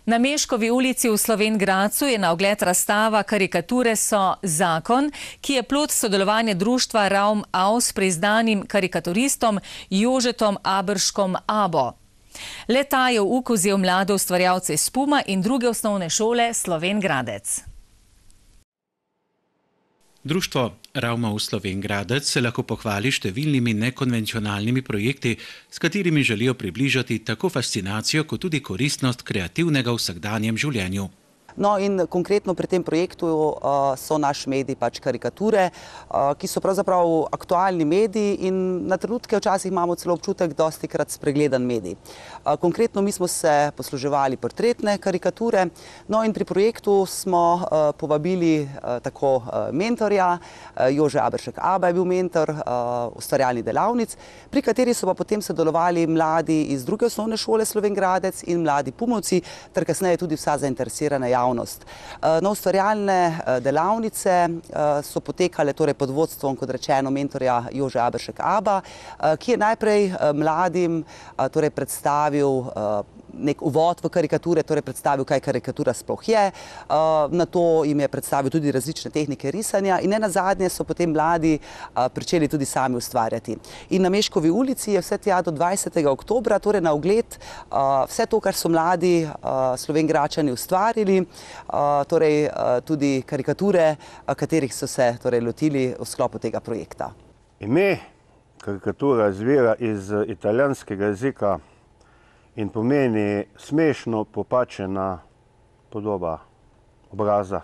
Na Meškovi ulici v Slovenj Gradcu je na ogled razstava Karikature so zakon, ki je plod sodelovanja društva Raum aus s priznanim karikaturistom Jožetom Aberškom Abo. Le-ta je v uk vzel mlade ustvarjalce iz Puma in druge osnovne šole Slovenj Gradec. Društvo Raum aus Slovenj Gradec se lahko pohvali številnimi nekonvencionalnimi projekti, s katerimi želijo približati tako fascinacijo kot tudi koristnost kreativnega v vsakdanjem življenju. No in konkretno pri tem projektu so naš medij karikature, ki so pravzaprav aktualni mediji in na trenutke včasih imamo celo občutek dostikrat spregledan medij. Konkretno mi smo se posluževali portretne karikature, no in pri projektu smo povabili tako mentorja, Jože Aberšek Aba je bil mentor ustvarjalnih delavnic, pri kateri so pa potem sodelovali mladi iz druge osnovne šole Slovenj Gradec in mladi Pumovci, ter kasneje tudi vsa zainteresirana javnost. No, ustvarjalne delavnice so potekale torej pod vodstvom, kot rečeno, mentorja Jože Aberšek Aba, ki je najprej mladim torej predstavil nek uvod v karikature, torej predstavil, kaj karikatura sploh je, nato jim je predstavil tudi različne tehnike risanja in nenazadnje so potem mladi pričeli tudi sami ustvarjati. In na Meškovi ulici je vse tja do 20. oktobra, torej na ogled vse to, kar so mladi Slovenjgračani ustvarili, torej tudi karikature, katerih so se torej lotili v sklopu tega projekta. Ime karikatura izvira iz italijanskega jezika in pomeni smešno popačena podoba obraza.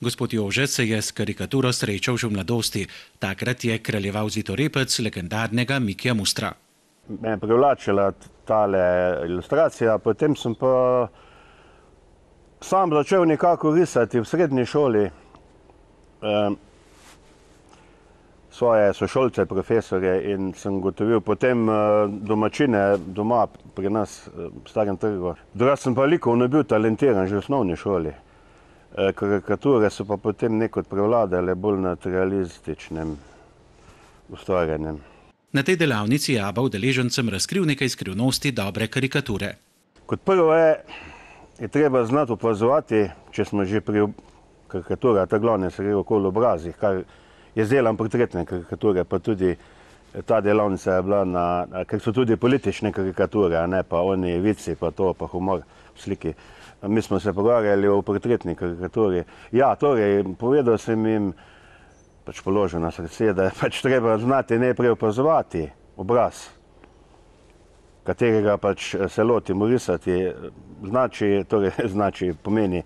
Gospod Jože se je s karikaturo srečal že v mladosti. Takrat je kraljeval zitorepec legendarnega Mikija Mustra. Me je privlačila tale ilustracija, potem sem pa sam začel nekako risati v srednji šoli svoje sošolce, profesorje in sem gotovil potem domačine doma pri nas v Starem trgu. Drugače sem pa likovno bil talentiran že v osnovni šoli. Karikature so pa potem nekod prevladale bolj nad realističnim ustvarjanjem. Na tej delavnici je Aba udeležencem razkril nekaj skrivnosti dobre karikature. Kot prvo je treba znati opazovati, če smo že pri karikaturah, ta glavne se gre okoli obrazih, kar je zdelan portretne karikature, pa tudi ta delavnica je bila ker so tudi politične karikature, ne pa oni vici, pa to, pa humor v sliki. Mi smo se pogovarjali o portretni karikaturi. Ja, torej, povedal sem jim, položil na srce, da je treba znati najprej opazovati obraz, katerega se lotimo risati, pomeni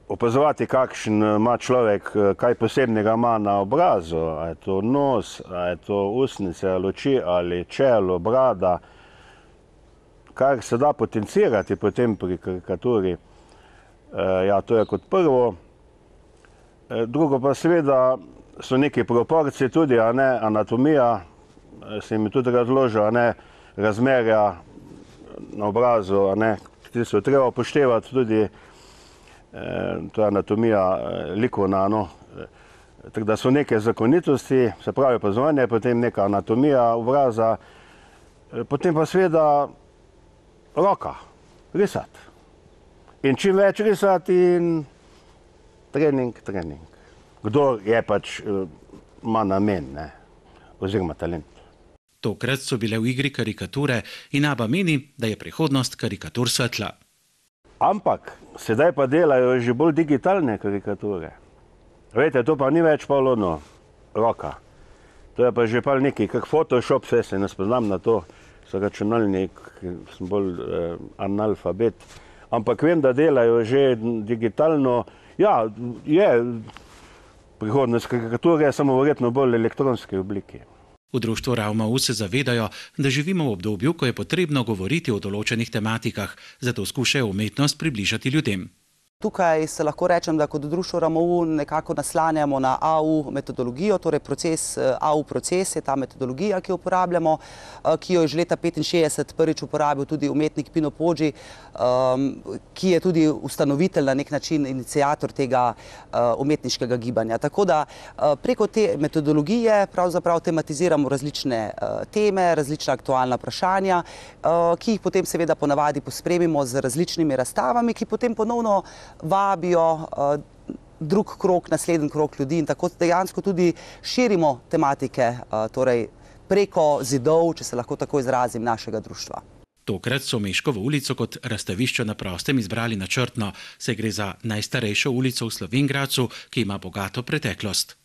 opazovati, kakšen ima človek, kaj posebnega ima na obrazu, a je to nos, a je to ustnice, ali oči, ali čelo, brada, kar se da potencirati potem pri karikaturi. Ja, to je kot prvo. Drugo pa seveda so neke proporcije tudi, a ne, anatomija, se jim tudi razložil, a ne, razmerja na obrazu, a ne, ki so treba upoštevati tudi, to je anatomija likovna, no. Tako da so neke zakonitosti, se pravi opazovanje, potem neka anatomija obraza, potem pa seveda roka, risati. In čim več risati in trening. Kdor je ima namen, ne, oziroma talent. Tokrat so bile v igri karikature in Aba meni, da je prihodnost karikatur svetla. Ampak sedaj pa delajo že bolj digitalne karikature. Veste, to pa ni več roka. To je pa že nekaj, kak Photoshop, se ne spoznam na to, so računalnik, sem bolj analfabet. Ampak vem, da delajo že digitalno. Ja, je prihodnost karikature, samo verjetno bolj elektronske obliki. V društvu Raum aus se zavedajo, da živimo v obdobju, ko je potrebno govoriti o določenih tematikah, zato skušajo umetnost približati ljudem. Tukaj se lahko rečem, da kot društvo RAMOU nekako naslanjamo na AU metodologijo, torej AU proces je ta metodologija, ki jo uporabljamo, ki jo je že leta 1965 prvič uporabil tudi umetnik Pino Poggi, ki je tudi ustanovitelj na nek način, iniciator tega umetniškega gibanja. Tako da preko te metodologije pravzaprav tematiziramo različne teme, različna aktualna vprašanja, ki jih potem seveda ponavadi pospremimo z različnimi razstavami, ki potem ponovno vabijo drug krog, naslednji krog ljudi in tako dejansko tudi širimo tematike, torej preko zidov, če se lahko tako izrazim, našega društva. Tokrat so Meškovo ulico kot razstavišče na prostem izbrali načrtno, saj gre za najstarejšo ulico v Slovenj Gradcu, ki ima bogato preteklost.